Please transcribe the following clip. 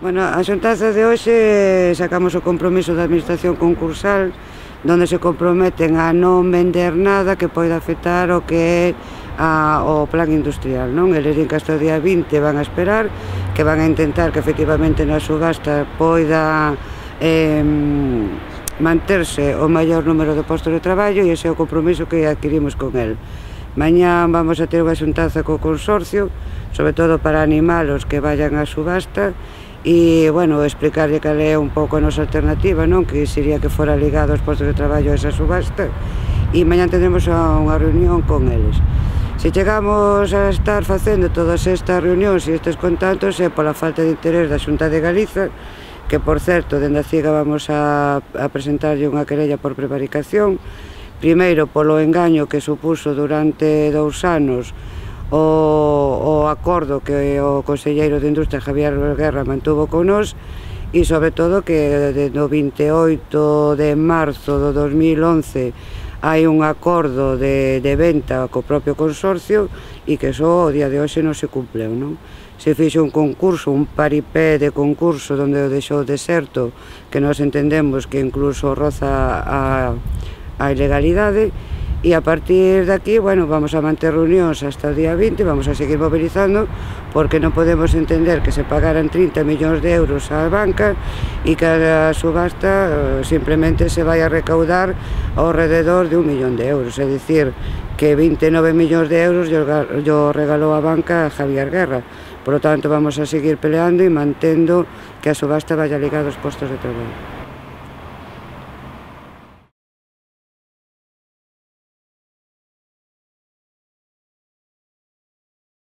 Bueno, a xuntanza de hoxe sacamos o compromiso da administración concursal donde se comprometen a non vender nada que poida afectar o que é o plan industrial, non? Eles din que hasta o día 20 van a esperar, que van a intentar que efectivamente na subasta poida manterse o maior número de postos de traballo, e ese é o compromiso que adquirimos con el. Mañá vamos a ter unha xuntanza co consorcio, sobre todo para animalos que vayan á subasta, e, bueno, explicarlle cal é un pouco a nosa alternativa, non? Que sería que fora ligado aos postos de traballo a esa subasta, e mañá tendremos unha reunión con eles. Se chegamos a estar facendo todas estas reunións e estes contactos é pola falta de interés da Xunta de Galiza, que, por certo, dende a CIGA vamos a presentarlle unha querella por prevaricación, primeiro polo engaño que supuso durante 2 anos o acordo que o conselleiro de Industria, Javier Guerra, mantuvo con nós, e sobre todo que no 28 de marzo do 2011 hai un acordo de venta co propio consorcio e que só o día de hoxe non se cumpleu, non? Se fixo un concurso, un paripé de concurso onde o deixou deserto, que nós entendemos que incluso roza a ilegalidade, e a partir de aquí, bueno, vamos a manter reunións hasta o día 20, vamos a seguir mobilizando, porque non podemos entender que se pagaran 30 millóns de euros á banca e que a subasta simplemente se vai a recaudar ao rededor de 1 millón de euros, é dicir, que 29 millóns de euros yo regalou a banca a Javier Guerra. Por lo tanto, vamos a seguir peleando e mantendo que a subasta vaya ligada aos postos de traballo.